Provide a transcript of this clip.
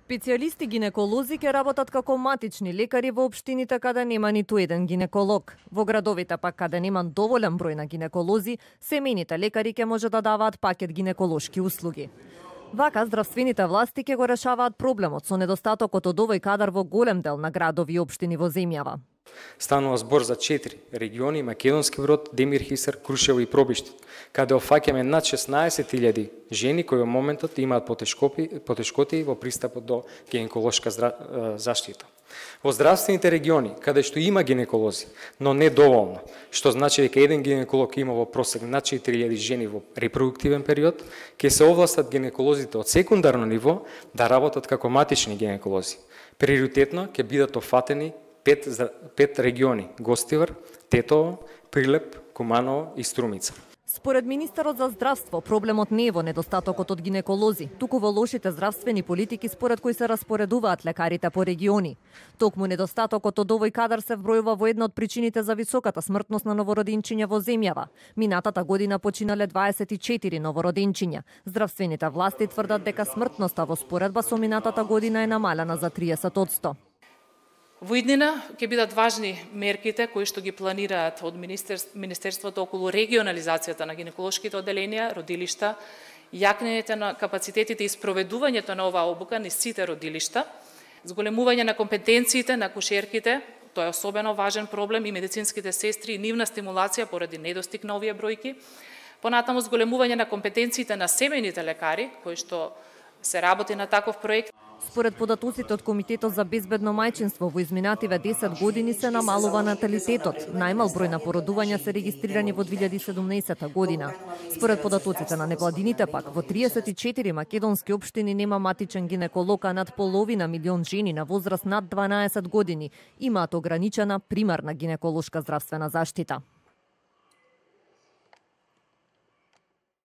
Специјалисти гинеколози ќе работат како матични лекари во општините каде нема ниту еден гинеколог. Во градовите пак каде нема доволен број на гинеколози, семејните лекари ќе може да даваат пакет гинеколошки услуги. Вака здравствените власти ќе го решаваат проблемот со недостатокот од овој кадар во голем дел на градови и општини во земјава. Станува збор за 4 региони: Македонски Брод, Демир Хисар, Крушево и Пробиште, каде офаќаме над 16.000 жени кои во моментот имаат потешкоти во пристапот до гинеколошка заштита. Во здравствените региони, каде што има гинеколози, но не доволно, што значи дека еден гинеколог има во просек над 4.000 жени во репродуктивен период, ќе се овластат гинеколозите од секундарно ниво да работат како матични гинеколози. Приоритетно ќе бидат офатени 5 региони: Гостивар, Тетово, Прилеп, Куманово и Струмица. Според министерот за здравство, проблемот не е во недостатокот од гинеколози, туку во лошите здравствени политики според кои се распоредуваат лекарите по региони. Токму недостатокот од овој кадар се вбројува во една од причините за високата смртност на новородинчиња во земјава. Минатата година починале 24 новородинчиња. Здравствените власти тврдат дека смртноста во споредба со минатата година е намалена за 30%. Во иднина ќе бидат важни мерките кои што ги планираат од Министерството околу регионализацијата на гинеколошките одделенија, родилишта, јакнење на капацитетите и спроведувањето на оваа обука низ сите родилишта, зголемување на компетенциите на акушерките, тоа е особено важен проблем, и медицинските сестри и нивна стимулација поради недостиг на овие бројки, понатаму зголемување на компетенциите на семејните лекари, кои што се работи на таков проект. Според податоците од Комитетот за безбедно мајчинство, во изминативе 10 години се намалува наталитетот. Најмал број на породувања се регистрирани во 2017 година. Според податоците на невладините пак, во 34 македонски општини нема матичен гинеколог, а над половина милион жени на возраст над 12 години имаат ограничена примарна гинеколошка здравствена заштита.